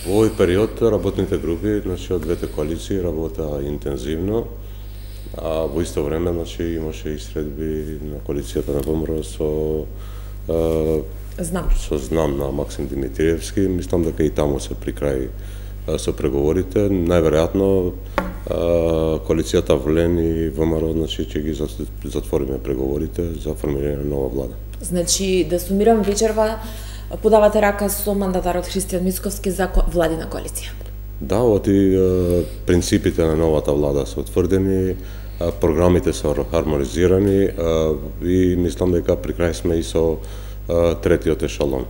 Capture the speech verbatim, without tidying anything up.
Во овој период работните групи, значи, од двете коалиции работа интензивно, а во исто време, значи, имаше и средби на коалицијата на ВМРО со Знам. со знам на Максим Димитриевски. Мислам дека и таму се при крај со преговорите. Најверојатно коалицијата Влен и ВМРО, значи, ќе ги затвориме преговорите за формирање на нова влада. Значи, да сумирам, вечерва подавате рака со мандатарот Христијан Мицковски за владина коалиција. Да, оти принципите на новата влада се утврдени, програмите се хармонизирани и мислам дека при крај сме и со третиот ешалон.